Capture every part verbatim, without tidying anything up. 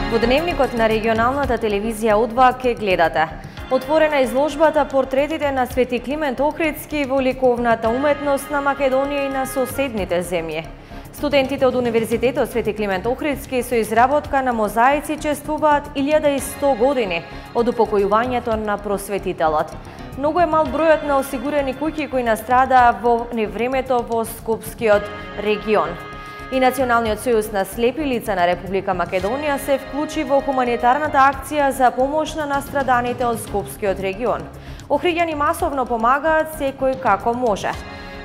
Во дневникот на регионалната телевизија У два ке гледате. Отворена изложбата портретите на Свети Климент Охридски во ликовната уметност на Македонија и на соседните земји. Студентите од Универзитетот Свети Климент Охридски со изработка на мозаици чествуваат илјада и сто години од упокојувањето на просветителот. Многу е мал бројот на осигурени куќи кои настрадаа во невремето во Скопскиот регион. И Националниот сојуз на слепи лица на Република Македонија се вклучи во хуманитарната акција за помош на настраданите од Скопскиот регион. Охриѓани масовно помагаат секој како може.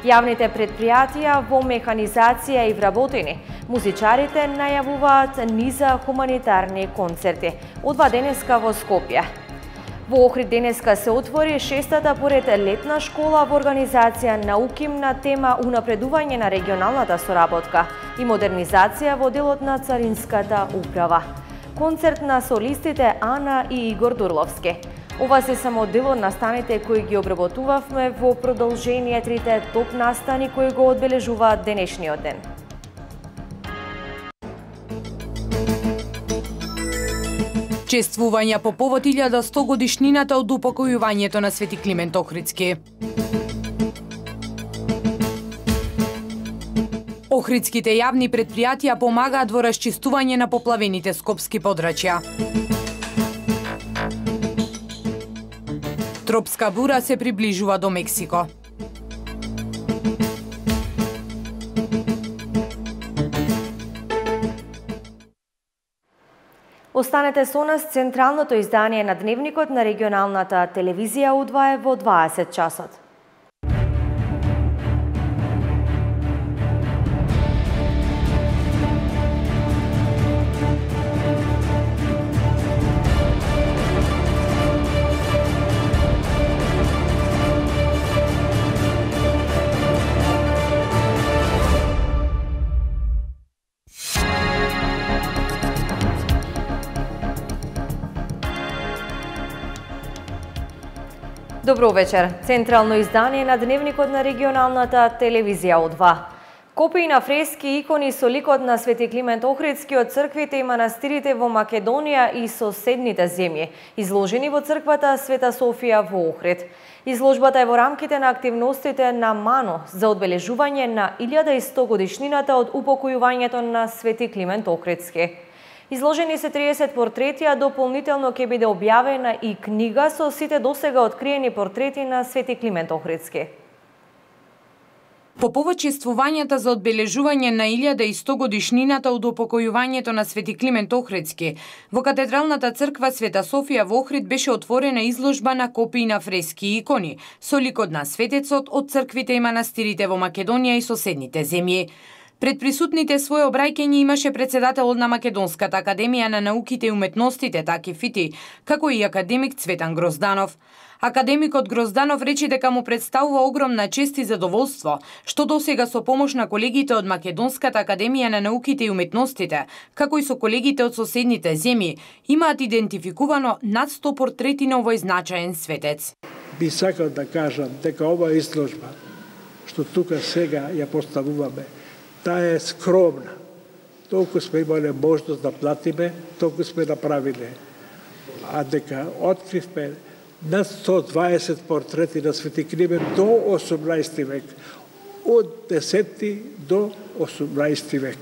Јавните предпријатија во механизација и вработени, музичарите најавуваат низа хуманитарни концерти. Од два денеска во Скопје. Во Охрид денеска се отвори шестата поред летна школа во организација Науким на тема унапредување на регионалната соработка и модернизација во делот на Царинската управа. Концерт на солистите Ана и Игор Дурловски. Ова се само дел од настаните кои ги обработувавме во продолжение трите топ настани кои го одбележуваат денешниот ден. Чествувања по повод илјада и сто годишнината од упокојувањето на Свети Климент Охридски. Охридските јавни предпријатија помагаат во расчистување на поплавените скопски подрачја. Тропска бура се приближува до Мексико. Останете со нас, централното издание на дневникот на регионалната телевизија У два е во дваесет часот. Добро вечер. Централно издание на дневникот на регионалната телевизија У два. Копии на фрески и икони со ликот на Свети Климент Охридски од црквите и манастирите во Македонија и соседните земји, изложени во црквата Света Софија во Охрид. Изложбата е во рамките на активностите на МАНО за одбележување на илјада и сто годишнината од упокојувањето на Свети Климент Охридски. Изложени се триесет портрети, а дополнително ќе биде објавена и книга со сите досега откриени портрети на Свети Климент Охридски. По повод чествувањата за одбележување на илјада и сто годишнината од упокојувањето на Свети Климент Охридски, во Катедралната црква Света Софија во Охрид беше отворена изложба на копии на фрески и икони со ликот на светецот од црквите и манастирите во Македонија и соседните земји. Пред присутните своје обраќање имаше председателот на Македонската академија на науките и уметностите Таки Фити, како и академик Цветан Грозданов. Академикот Грозданов рече дека му представува огромна чест и задоволство, што досега со помош на колегите од Македонската академија на науките и уметностите, како и со колегите од соседните земји, имаат идентификувано над сто портрети на овој значаен светец. Би сакал да кажам дека ова изложба, што тука сега ја поставуваме, таа е скромна. Толку сме имале можност да платиме, толку сме направиле. А дека откривме над сто дваесет портрети на Свети Климент до осумнаесети век. Од десети до осумнаесети век.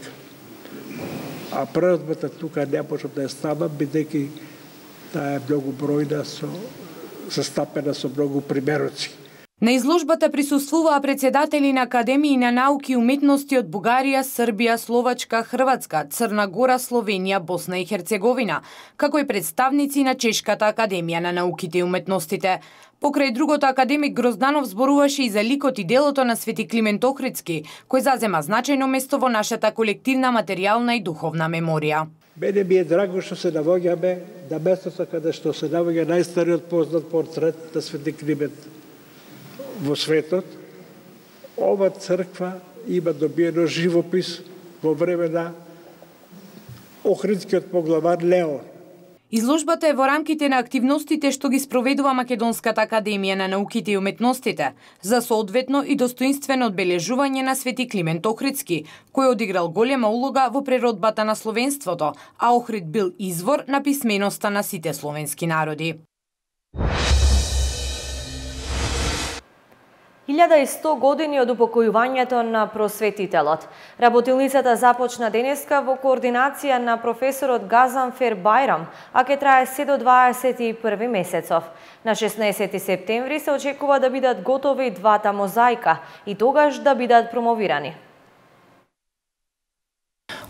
А преразбата тука не можам да ја ставам, бидејќи таа е многу бројна, со, застапена со многу примероци. На изложбата присуствуваа председатели на академии на науки и уметности од Бугарија, Србија, Словачка, Хрватска, Црна Гора, Словенија, Босна и Херцеговина, како и представници на Чешката академија на науките и уметностите. Покрај другото, академик Грозданов зборуваше и за ликот и делото на Свети Климент Охридски, кој зазема значајно место во нашата колективна материјална и духовна меморија. Мене ми е драго што се навоѓаме на местото каде што се навоѓа најстариот познат портрет на Свети Климент во светот. Ова црква има добиено живопис во време на Охридскиот поглавар Леон. Изложбата е во рамките на активностите што ги спроведува Македонската академија на науките и уметностите за соодветно и достоинствено одбележување на Свети Климент Охридски, кој одиграл голема улога во преродбата на словенството, а Охрид бил извор на писменоста на сите словенски народи. илјада и сто години од упокојувањето на просветителот. Работилницата започна денеска во координација на професорот Газанфер Байрам, а ке трае се до дваесет и први месецов. На шеснаесети септември се очекува да бидат готови двата мозаика и тогаш да бидат промовирани.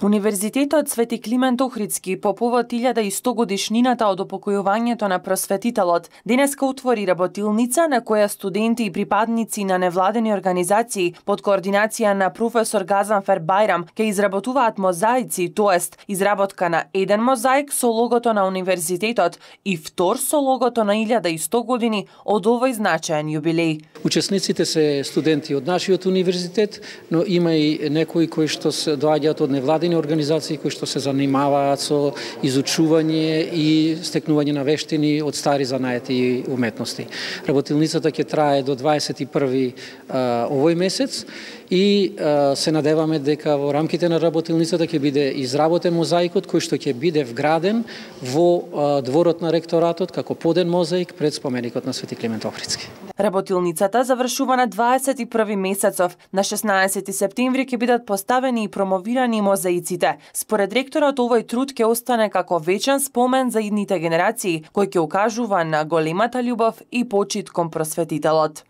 Универзитетот Свети Климент Охридски по повод илјада и сто годишнината од упокојувањето на просветителот денеска отвори работилница на која студенти и припадници на невладени организации под координација на професор Газанфер Байрам ќе изработуваат мозаици, тоест изработка на еден мозаик со логото на универзитетот и втор со логото на илјада и сто години од овој значаен јубилеј. Учесниците се студенти од нашиот универзитет, но има и некои кои што се доаѓаат од невладени организации кои што се занимаваат со изучување и стекнување на вештини од стари занаети и уметности. Работилницата ќе трае до дваесет и први овој месец и а, се надеваме дека во рамките на работилницата ќе биде изработен мозаикот кој што ќе биде вграден во а, дворот на ректоратот како поден мозаик пред споменикот на Свети Климент Охридски. Работилницата завршува на дваесет и први месецов. На шеснаесети септември ќе бидат поставени и промовирани мозаиците. Според ректорот, овој труд ќе остане како вечен спомен за идните генерации, кој ќе укажува на големата љубов и почит кон просветителот.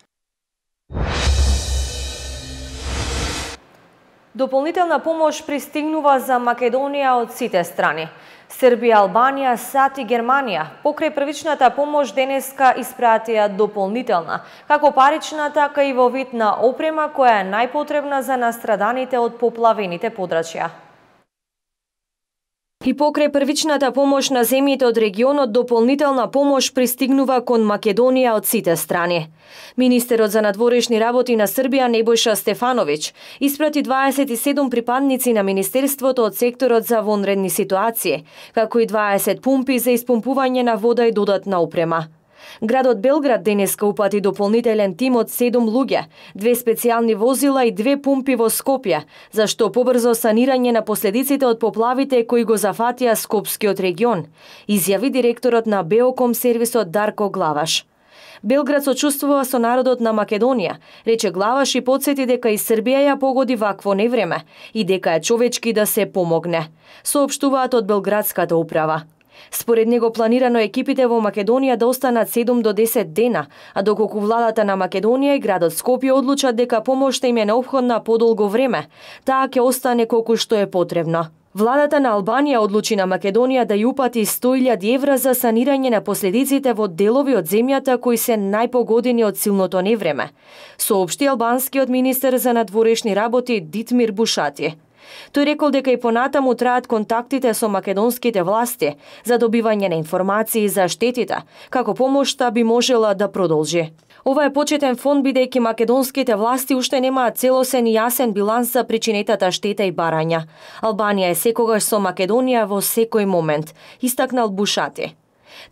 Дополнителна помош пристигнува за Македонија од сите страни. Србија, Албанија, САД и Германија покрај првичната помош денеска испратија дополнителна, како парична, така и во вид на опрема која е најпотребна за настраданите од поплавените подрачја. И покрај првичната помош на земјите од регионот, дополнителна помош пристигнува кон Македонија од сите страни. Министерот за надворешни работи на Србија Небојша Стефановиќ испрати дваесет и седум припадници на Министерството од секторот за вонредни ситуации, како и дваесет пумпи за испумпување на вода и додатна опрема. Градот Белград денеска упати дополнителен тим од седум луѓе, две специјални возила и две пумпи во Скопје, за што побрзо санирање на последиците од поплавите кои го зафатија Скопскиот регион, изјави директорот на Беоком сервисот Дарко Главаш. Белград сочувствува со народот на Македонија, рече Главаш и потсети дека и Србија ја погоди вакво невреме и дека е човечки да се помогне, соопштуваат од Белградската управа. Според него планирано екипите во Македонија да останат седум до десет дена, а доколку владата на Македонија и градот Скопје одлучат дека помошта им е неопходна подолго време, таа ќе остане колку што е потребно. Владата на Албанија одлучи на Македонија да ја упати сто илјади евра за санирање на последиците во делови од земјата кои се најпогодени од силното невреме, соопшти албанскиот министер за надворешни работи Дитмир Бушати. Тој рекол дека и понатаму траат контактите со македонските власти за добивање на информации за штетите, како помошта би можела да продолжи. Ова е почетен фонд бидејќи македонските власти уште немаат целосен и јасен биланс за причинетата штета и барања. Албанија е секогаш со Македонија во секој момент, истакнал Бушати.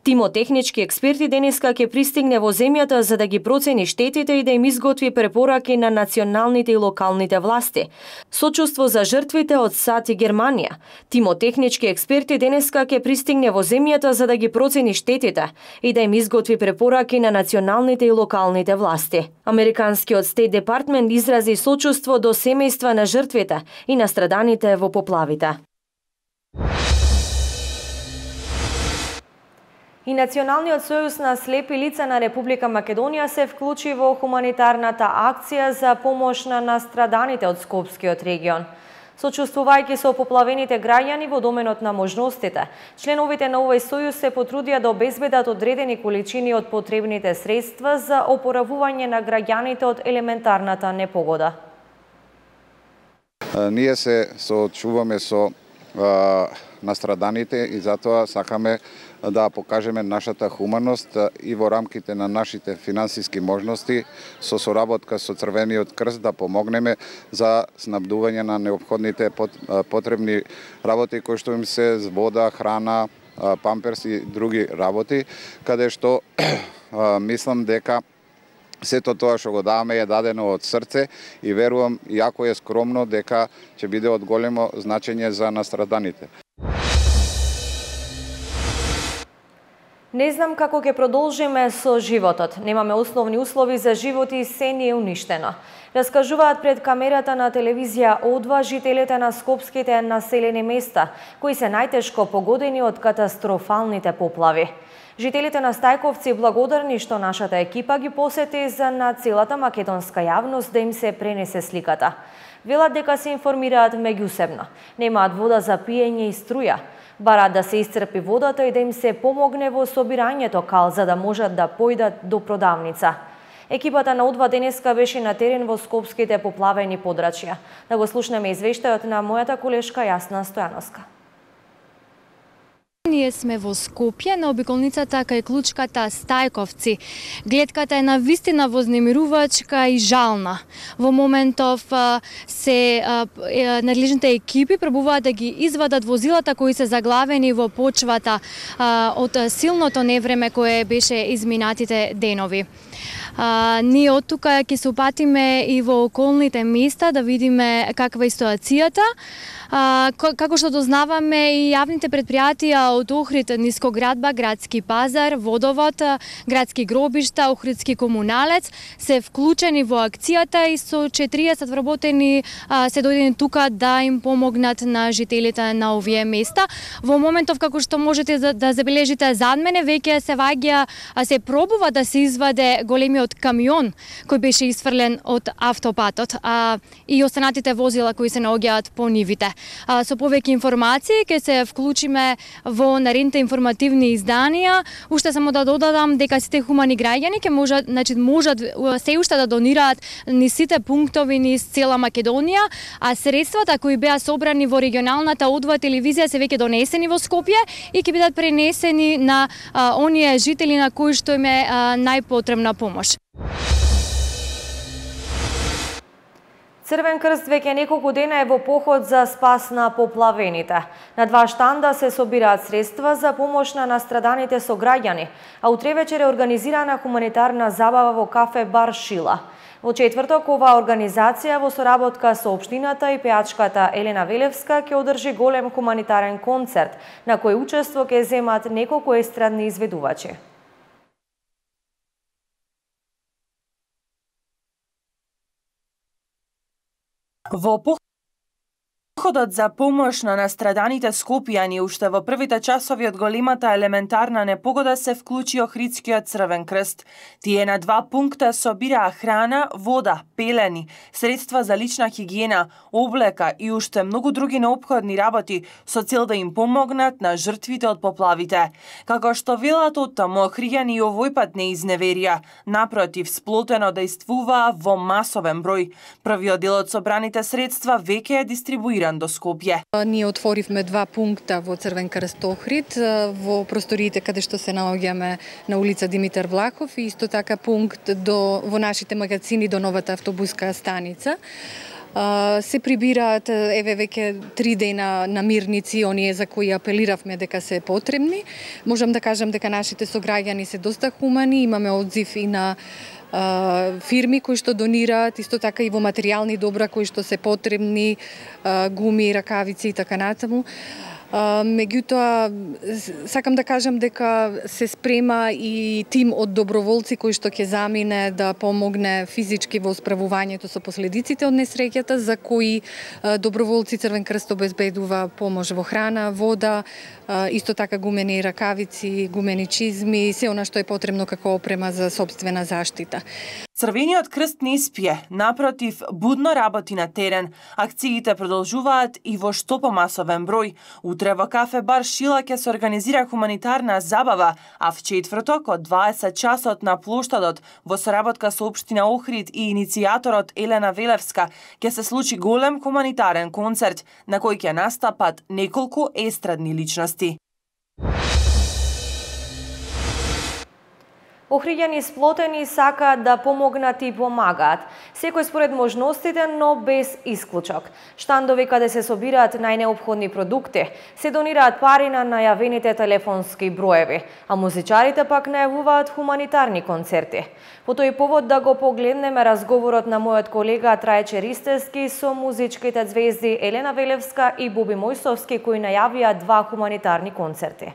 Тимот технички експерти денеска ќе пристигне во земјата за да ги процени штетите и да им изготви препораки на националните и локалните власти. Сочувство за жртвите од САД и Германија. Тимот технички експерти денеска ќе пристигне во земјата за да ги процени штетите и да им изготви препораки на националните и локалните власти. Американскиот Стейт Департмент изрази сочувство до семејства на жртвите и настраданите во поплавите. И Националниот сојуз на слепи лица на Република Македонија се вклучи во хуманитарната акција за помош на настраданите од Скопскиот регион. Сочувствувајќи со поплавените граѓани во доменот на можностите, членовите на овој сојуз се потрудија да обезбедат одредени количини од потребните средства за опоравување на граѓаните од елементарната непогода. Ние се соочуваме со а, настраданите и затоа сакаме да покажеме нашата хуманост и во рамките на нашите финансиски можности со соработка со Црвениот крст да помогнеме за снабдување на неопходните потребни работи кои што им се вода, храна, памперс и други работи, каде што мислам дека сето тоа што го даваме е дадено од срце и верувам, иако е скромно, дека ќе биде од големо значење за настраданите. Не знам како ќе продолжиме со животот. Немаме основни услови за живот и се ни е уништено. Раскажуваат пред камерата на телевизија О два жителите на скопските населени места, кои се најтешко погодени од катастрофалните поплави. Жителите на Стајковци благодарни што нашата екипа ги посети за на целата македонска јавност да им се пренесе сликата. Велат дека се информираат меѓусебно. Немаат вода за пиење и струја. Бараат да се исцрпи водата и да им се помогне во собирањето кал за да можат да појдат до продавница. Екипата на О два денеска беше на терен во скопските поплавени подрачја. Да го слушнеме извештајот на мојата колешка Јасна Стојановска. Ние сме во Скопје, на обиколницата кај клучката Стајковци. Гледката е навистина вознемирувачка и жална. Во моментов се надлежните екипи пробуваат да ги извадат возилата кои се заглавени во почвата од силното невреме кое беше изминатите денови. А, ние од тука ќе се упатиме и во околните места да видиме каква е ситуацијата. А, како што дознаваме и јавните предпријатија од Охрид, Нискоградба, Градски пазар, Водовод, Градски гробишта, Охридски комуналец се вклучени во акцијата и со четириесет вработени а, се дојдени тука да им помогнат на жителите на овие места. Во моментов како што можете да, да забележите зад мене, веќе се ваѓа, а се пробува да се изваде големиот камион кој беше исфрлен од автопатот, а и останатите возила кои се наоѓаат по нивите. А, со повеќе информации ќе се вклучиме во наредните информативни изданија. Уште само да додадам дека сите хумани граѓани ќе можат, значи можат се уште да донираат низ сите пунктови низ цела Македонија, а средствата кои беа собрани во регионалната О два телевизија се веќе донесени во Скопје и ќе бидат пренесени на а, оние жители на кои што им е а, најпотребна помош. Црвен крст веќе неколку дена е во поход за спас на поплавените. На два штанда се собираат средства за помош на настраданите сограѓани, а утре вечер е организирана хуманитарна забава во кафе Бар Шила. Во четврток оваа организација во соработка со општината и пеачката Елена Велевска ќе одржи голем хуманитарен концерт, на кој учество ќе земат неколку естрадни изведувачи. Во походот за помош на настраданите скопјани уште во првите часови од големата елементарна непогода се вклучи Охридскиот Црвен крст. Тие на два пункта собираа храна, вода, пелени, средства за лична хигиена, облека и уште многу други неопходни работи со цел да им помогнат на жртвите од поплавите. Како што велат од таму, охриѓани и овој пат не изневерија, напротив, сплотено действуваа во масовен број. Првиот дел од собраните средства веќе е дистрибуиран до Скопје. Ние отворивме два пункта во Црвен крст Охрид, во просториите каде што се наоѓаме на улица Димитар Влахов и исто така пункт до, во нашите магазини до новата автобуска станица. Се прибираат еве веќе три дена намирници, оние за кои апелиравме дека се потребни. Можам да кажам дека нашите сограѓани се доста хумани, имаме одзив и на фирми кои што донираат, исто така и во материјални добра кои што се потребни, гуми, ракавици и така натаму. Меѓутоа, сакам да кажам дека се спрема и тим од доброволци кои што ќе замине да помогне физички во справувањето со последиците од несреќата, за кои доброволци Црвен крст обезбедува помош во храна, вода, исто така гумени ракавици, гумени чизми, се она што е потребно како опрема за сопствена заштита. Црвениот крст не спие, напротив, будно работи на терен. Акциите продолжуваат и во што помасовен број. Утре во кафе Бар Шила ќе се организира хуманитарна забава, а в четврток од дваесет часот на плоштадот во соработка со општина Охрид и иницијаторот Елена Велевска ќе се случи голем хуманитарен концерт на кој ќе настапат неколку естрадни личности. Охриѓани сплотени сакаат да помогнат и помагаат. Секој според можностите, но без исклучок. Штандови каде се собираат најнеопходни продукти, се донираат пари на најавените телефонски броеви, а музичарите пак најавуваат хуманитарни концерти. По тој повод да го погледнеме разговорот на мојот колега Трајче Ристевски со музичките звезди Елена Велевска и Боби Мојсовски, кои најавија два хуманитарни концерти.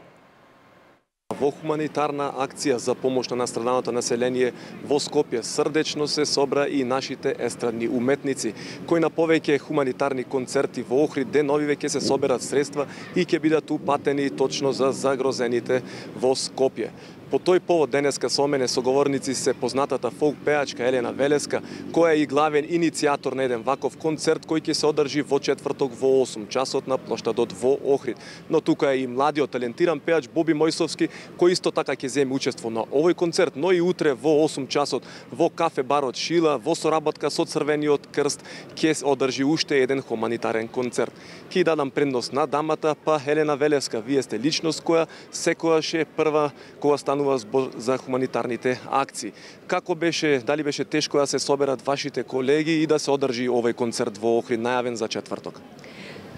Во хуманитарна акција за помош на настраданото население во Скопје срдечно се собра и нашите естрадни уметници, кои на повеќе хуманитарни концерти во Охрид деновиве ќе се соберат средства и ќе бидат упатени точно за загрозените во Скопје. По тој повод денеска со мене соговорници се познатата фолк пеачка Елена Велеска, која е и главен иницијатор на еден ваков концерт кој ќе се одржи во четврток во осум часот на плоштадот во Охрид. Но тука е и младиот талентиран пеач Боби Мојсовски, кој исто така ќе земе учество на овој концерт, но и утре во осум часот во кафе барот Шила во соработка со Црвениот крст ќе се одржи уште еден хуманитарен концерт. Ќе дадам предност на дамата, па Елена Велеска, вие сте личност која секојаш е прва кога станува збор за хуманитарните акции. Како беше, дали беше тешко да се соберат вашите колеги и да се одржи овој концерт во Охрид најавен за четврток?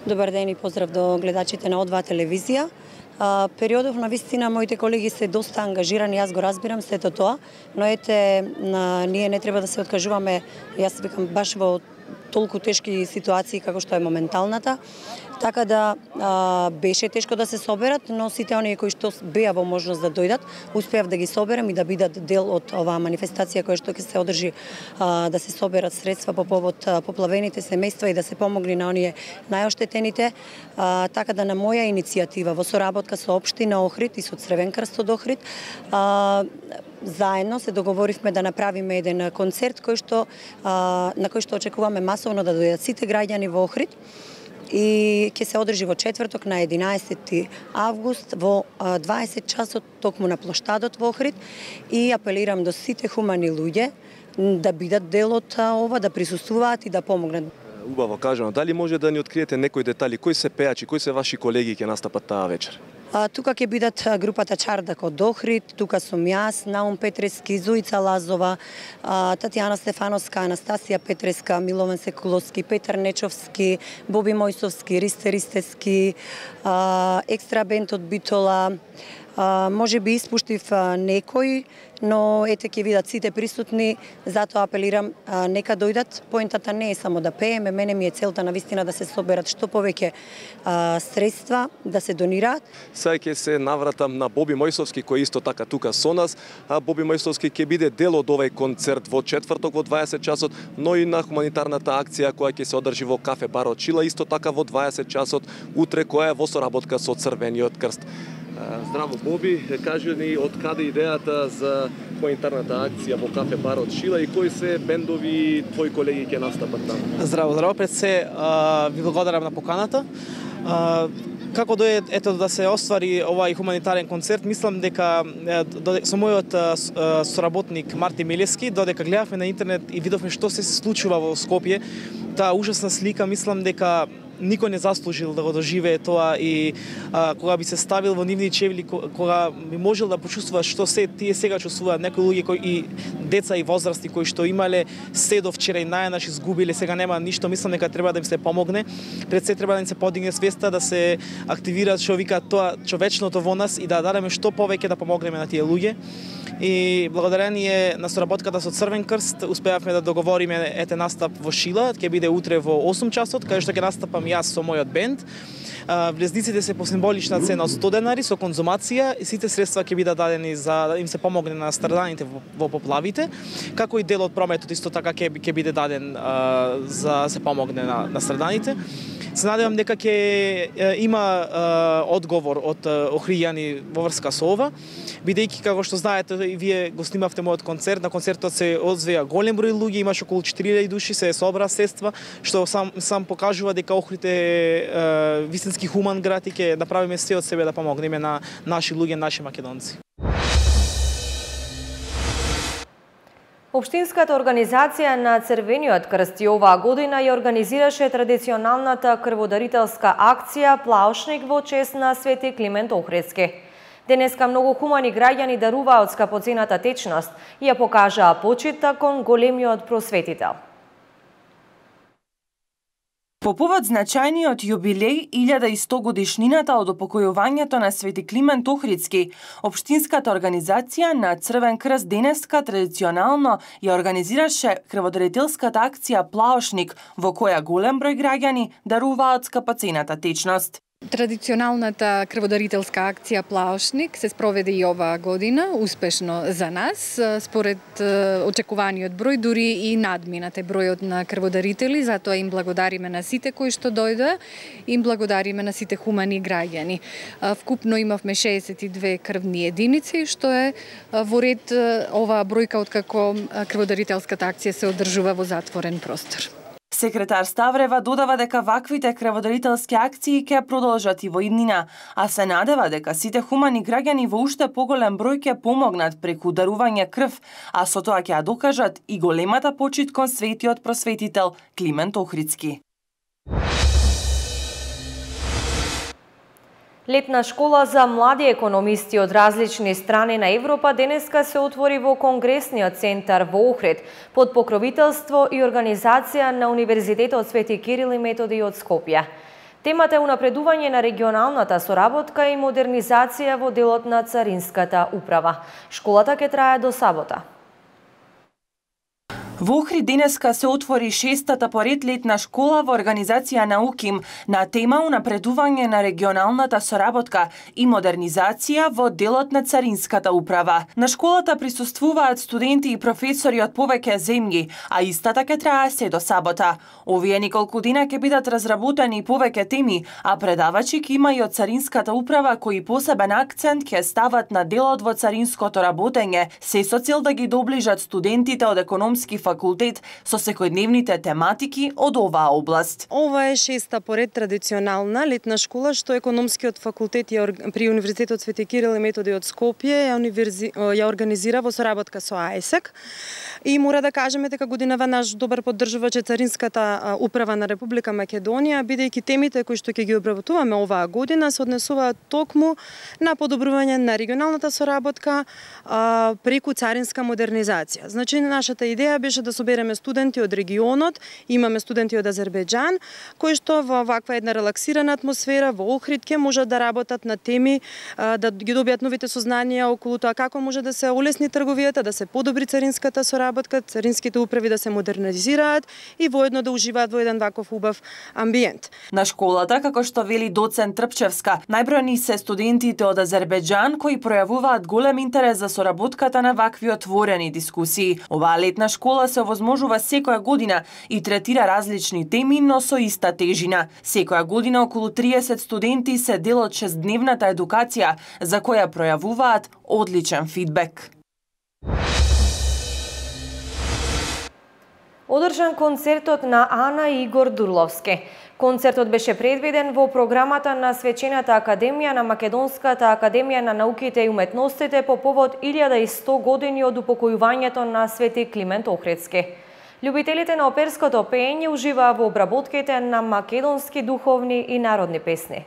Добар ден и поздрав до гледачите на О два телевизија. А, периодов на вистина моите колеги се доста ангажирани, јас го разбирам сето тоа, но ете на, ние не треба да се откажуваме, јас викам баш во толку тешки ситуации како што е моменталната. Така да а, беше тешко да се соберат, но сите оние кои што беа во можност да дојдат, успеав да ги соберам и да бидат дел од оваа манифестација која што ќе се одржи, а, да се соберат средства по повод а, поплавените семејства и да се помогне на оние најоштетените. А, така да на моја иницијатива во соработка со општина Охрид и со Црвен крст од Охрид, а, заедно се договоривме да направиме еден концерт кој што а, на кој што очекуваме масовно да дојдат сите граѓани во Охрид. И ќе се одржи во четврток на единаесети август во дваесет часот токму на плоштадот во Охрид и апелирам до сите хумани луѓе да бидат дел од ова, да присуствуваат и да помогнат. Убаво кажано, дали може да ни откриете некои детали, кои се пеачи, кои се ваши колеги ќе настапат таа вечер? А, тука ќе бидат групата Чардак од Охрид, тука сум јас, Наум Петрески, Зуица Лазова, а, Татјана Стефановска, Анастасија Петреска, Милован Секуловски, Петар Нечовски, Боби Мојсовски, Ристе Ристески, а, екстра бенд од Битола. А, може би испуштив а, некој, но ете ќе видат сите присутни, затоа апелирам а, нека дојдат. Поентата не е само да пееме, мене ми е целта на вистина да се соберат што повеќе а, средства, да се донираат. Сега ќе се навратам на Боби Мојсовски кој исто така тука со нас. А Боби Мојсовски ќе биде дел од овој концерт во четврток во дваесет часот, но и на хуманитарната акција која ќе се одржи во кафе барот Шила исто така во дваесет часот утре, која е во соработка со Црвениот крст. Здраво, Боби, кажи ни од каде идејата за хуманитарната акција во кафе барот Шила и кои се бендови твои колеги ќе настапат таму? Здраво, здраво, пред се ви благодарам на поканата. Како дое ето да се оствари овај хуманитарен концерт, мислам дека со мојот соработник Марти Милески додека гледавме на интернет и видовме што се случува во Скопје, таа ужасна слика, мислам дека никој не заслужил да го доживее тоа и а, кога би се ставил во нивни чевли, кога би можел да почувствува што се тие сега чувствуваат некои луѓе кои и деца и возрасти кои што имале се до вчера и најнаш изгубиле, сега нема ништо, мислам дека треба да им се помогне. Пред се треба да им се подигне свеста, да се активира што вика тоа човечното во нас и да дадеме што повеќе да помогнеме на тие луѓе. И благодарение на соработката со Црвен крст успеавме да договориме ете настап во Шила, ќе биде утре во осум часот, каде што ќе настапам јас со мојот бенд. Влезниците се по символична цена од сто денари со конзумација и сите средства ќе бидат дадени за да им се помогне на страданите во, во поплавите, како и дел од прометот исто така ќе ќе биде даден а, за да се помогне на, на страданите. Се надевам дека ќе има а, одговор од охријани во врска со ова, бидејќи како што знаете и вие го снимавте мојот концерт, на концертот се одзвеа голем број луѓе, имаше околу четири илјади души, се собра средства, што сам сам покажува дека Охрид е вистински хуман град и ќе направиме се од себе да помогнеме на наши луѓе, наши македонци. Општинската организација на Црвениот крст и оваа година ја организираше традиционалната крводарителска акција Плаушник во чест на Свети Климент Охридски. Денеска многу хумани граѓани даруваат скапоцената течност и ја покажаа почита кон големиот просветител. По повод значајниот јубилеј илјада и сто годишнината од упокојувањето на Свети Климент Охридски, општинската организација на Црвен крст денеска традиционално ја организираше крводарителската акција Плаошник, во која голем број граѓани даруваат скапоцената течност. Традиционалната крводарителска акција Плаошник се спроведе и оваа година, успешно за нас, според очекуваниот број, дури и надминате бројот на крводарители, затоа им благодариме на сите кои што дојдоа, им благодариме на сите хумани граѓани. Вкупно имавме шеесет и две крвни единици, што е во ред оваа бројка откако крводарителската акција се одржува во затворен простор. Секретар Ставрева додава дека ваквите крводарителски акции ќе продолжат и во иднина, а се надева дека сите хумани граѓани во уште поголем број ќе помогнат преку дарување крв, а со тоа ќе ја докажат и големата почит кон светиот просветител Климент Охридски. Летна школа за млади економисти од различни страни на Европа денеска се отвори во Конгресниот центар во Охрид под покровителство и организација на Универзитетот Свети Кирил и Методи од Скопје. Темата е унапредување на регионалната соработка и модернизација во делот на Царинската управа. Школата ќе трае до сабота. Во Охрид денеска се отвори шестата поред летна школа во организација на УКИМ на тема унапредување на регионалната соработка и модернизација во делот на Царинската управа. На школата присуствуваат студенти и професори од повеќе земји, а истата ќе трае се до сабота. Овие неколку дена ќе бидат разработени повеќе теми, а предавачи ќе има и од Царинската управа кои посебен акцент ќе стават на делот во царинското работење, се со цел да ги доближат студентите од економски факултет со секојдневните тематики од оваа област. Ова е шеста поред традиционална летна школа што економскиот факултет при Универзитетот Свети Кирил и Методи од Скопје ја, универзи... ја организира во соработка со АЕСЕК. И мора да кажеме дека годинава наш добар поддржувач е Царинската управа на Република Македонија, бидејќи темите кои што ќе ги обработуваме оваа година се однесуваат токму на подобрување на регионалната соработка а, преку царинска модернизација. Значи нашата идеја беше да собереме студенти од регионот, имаме студенти од Азербејџан, кои што во ваква една релаксирана атмосфера во Охрид ќе можат да работат на теми, да ги добијат новите сознанија околу тоа како може да се улесни трговијата, да се подобри царинската соработка, царинските управи да се модернизираат и воедно да уживаат во еден ваков убав амбиент. На школата, како што вели доцент Трпчевска, најбројни се студентите од Азербејџан кои пројавуваат голем интерес за соработката на вакви отворени дискусии. Оваа летна школа се овозможува секоја година и третира различни теми, но со иста тежина. Секоја година околу триесет студенти се дел од шестдневната едукација, за која пројавуваат одличен фидбек. Одржан концертот на Ана и Игор Дурловски. Концертот беше предвиден во програмата на Свечената академија на Македонската академија на науките и уметностите по повод илјада и сто години од упокојувањето на Свети Климент Охридски. Љубителите на оперското пеење уживаа во обработките на македонски духовни и народни песни.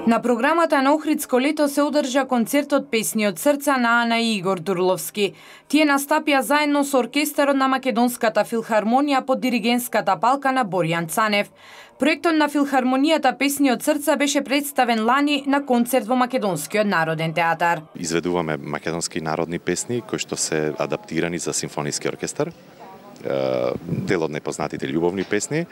На програмата на Охридско лето се одржа концертот Песни од срца на Ана и Игор Дурловски. Тие настапија заедно со оркестарот на Македонската филхармонија под диригентската палка на Боријан Цанев. Проектот на филхармонијата Песни од срца беше представен лани на концерт во Македонскиот народен театар. Изведуваме македонски народни песни кои што се адаптирани за симфониски оркестар. Дел од непознатите љубовни песни.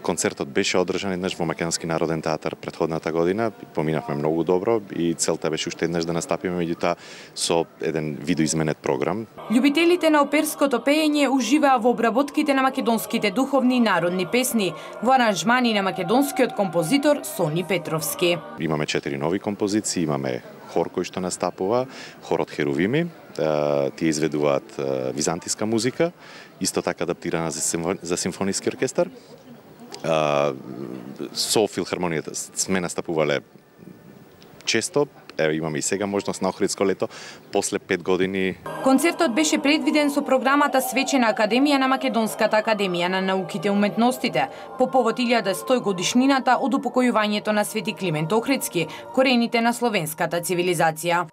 Концертот беше одржан еднаш во Македонски народен театар претходната година. Поминавме многу добро и целта беше уште еднаш да настапиме, меѓутоа со еден видоизменет програм. Љубителите на оперското пеење уживаа во обработките на македонските духовни и народни песни, во аранжмани на македонскиот композитор Сони Петровски. Имаме четири нови композиции, имаме хор кој што настапува, хорот Херувими, тие изведуваат византиска музика, исто така адаптирана за симфониски оркестар. Со филхармонијата сме настапувале често, Еве имаме и сега можност на Охридско лето после пет години. Концертот беше предвиден со програмата Свечена академија на Македонската академија на науките и уметностите по повод илјада и сто годишнината од упокојувањето на Свети Климент Охридски, корените на словенската цивилизација.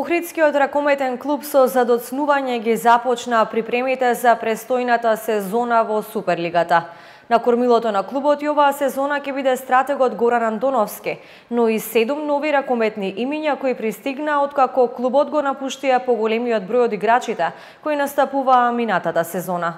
Охридскиот ракометен клуб со задоцнување ги започна припремите за престојната сезона во Суперлигата. На кормилото на клубот и оваа сезона ќе биде стратегот Горан Андоновски, но и седум нови ракометни имиња кои пристигнаа откако клубот го напуштија поголемиот број од играчите кои настапуваа минатата сезона.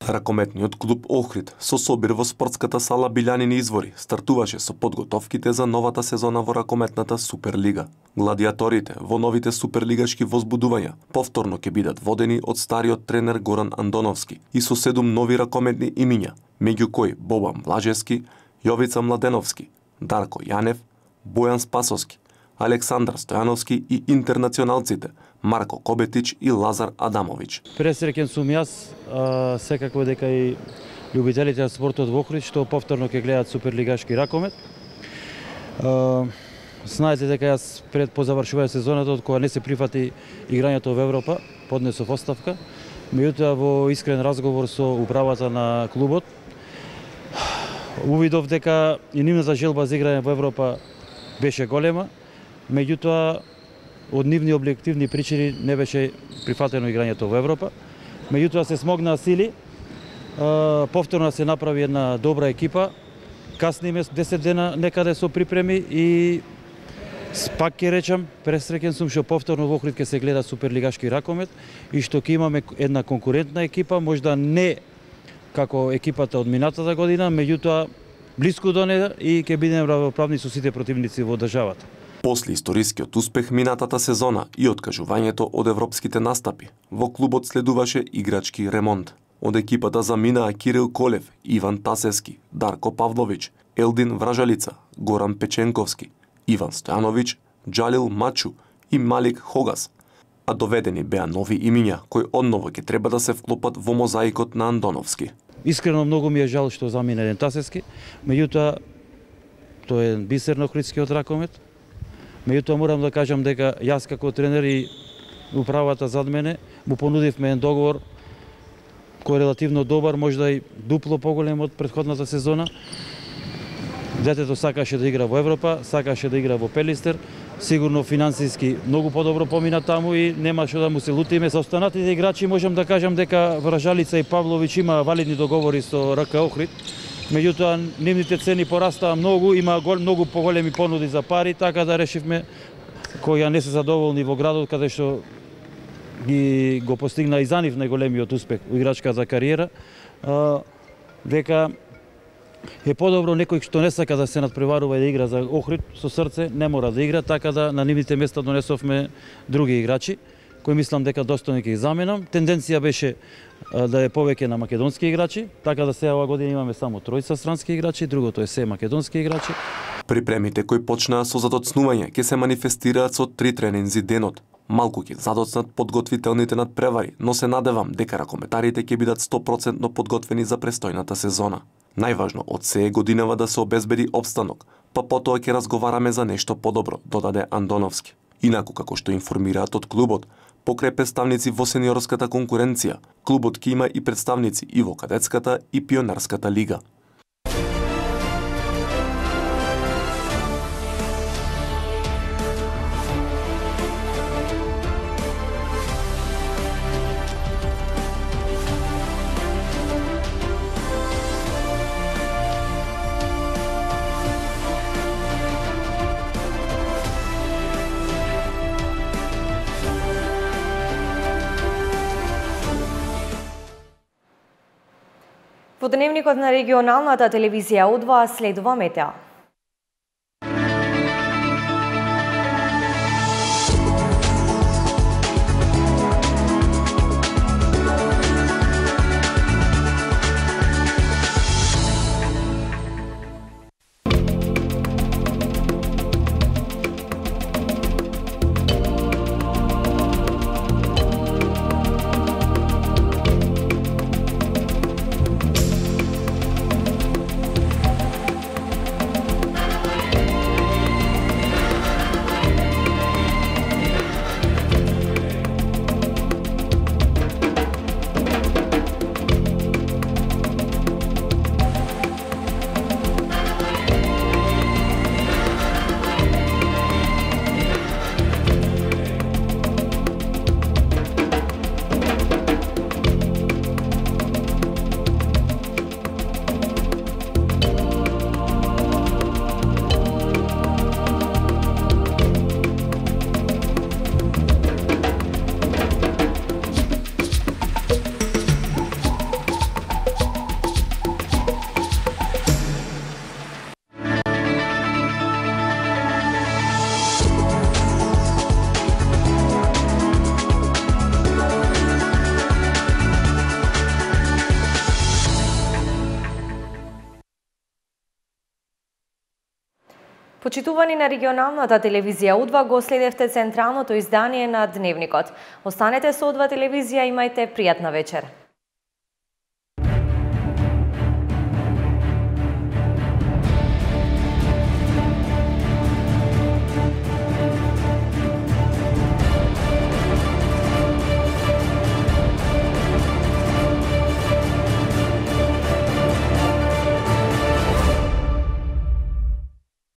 Ракометниот клуб Охрид со собир во спортската сала Билјанини извори стартуваше со подготовките за новата сезона во ракометната Суперлига. Гладиаторите во новите суперлигашки возбудувања повторно ќе бидат водени од стариот тренер Горан Андоновски и со седум нови ракометни имиња, меѓу кои Бобан Блажевски, Јовица Младеновски, Дарко Јанев, Бојан Спасовски, Александар Стојановски и интернационалците Марко Кобетич и Лазар Адамович. Пресреќен сум јас, а, секако дека и љубителите на спортот во Охрид што повторно ќе гледаат суперлигашки ракомет. А, знаете дека јас пред по завршување сезоната, од кога не се прифати играњето во Европа, поднесов оставка. Меѓутоа во искрен разговор со управата на клубот, увидов дека и нивната желба за играње во Европа беше голема. Меѓутоа, од нивни објективни причини не беше прифатено играњето во Европа. Меѓутоа се смогнаа сили, повторно се направи една добра екипа, касниме десет дена некаде со припреми и пак ќе речам, пресреќен сум што повторно во Охрид ќе се гледа суперлигашки ракомет и што ќе имаме една конкурентна екипа, можда не како екипата од минатата година, меѓутоа блиску до неа и ќе бидеме равноправни со сите противници во државата. После историскиот успех минатата сезона и откажувањето од европските настапи, во клубот следуваше играчки ремонт. Од екипата заминаа Кирил Колев, Иван Тасевски, Дарко Павлович, Елдин Вражалица, Горан Печенковски, Иван Стојанович, Џалил Мачу и Малик Хогас. А доведени беа нови имиња кои одново ќе треба да се вклопат во мозаикот на Андоновски. Искрено многу ми е жал што замина еден Тасевски, меѓутоа тој е бисер на охридскиот ракомет. Меѓутоа морам да кажам дека јас како тренер и управата зад мене му понудивме еден договор кој е релативно добар, можда и дупло поголем од претходната сезона. Детето сакаше да игра во Европа, сакаше да игра во Пелистер, сигурно финансиски многу подобро помина таму и нема што да му се лутиме. За останатите играчи можам да кажам дека Вражалица и Павлович има валидни договори со РК Охрид. Меѓутоа, нивните цени порастаа многу, има гол, многу поголеми понуди за пари, така да решивме, кои ја не се задоволни во градот, каде што ги го постигна и за нив најголемиот успех во играчката кариера, а, дека е подобро некој што не сака да се надпреварува и да игра за Охрид со срце, не мора да игра, така да на нивните места донесовме други играчи, кои мислам дека достојно ќе ги заменам. Тенденција беше да е повеќе на македонски играчи, така да сега оваа година имаме само тројца странски играчи, другото е се македонски играчи. Припремите кои почнаа со задоцнување ќе се манифестираат со три тренинзи денот. Малку ќе задоцнат подготвителните надпревари, но се надевам дека ракометарите ќе бидат сто проценти подготвени за престојната сезона. Најважно од се е годинава да се обезбеди опстанок, па потоа ќе разговараме за нешто подобро, додаде Андоновски. Инаку како што информираат од клубот, покрај представници во сениорската конкуренција, клубот ќе има и представници и во кадетската и пионерската лига. Во Во дневникот на регионалната телевизија У два следува метео. Почитувани на регионалната телевизија У два, го следевте централното издание на Дневникот. Останете со У два телевизија, имајте пријатна вечер.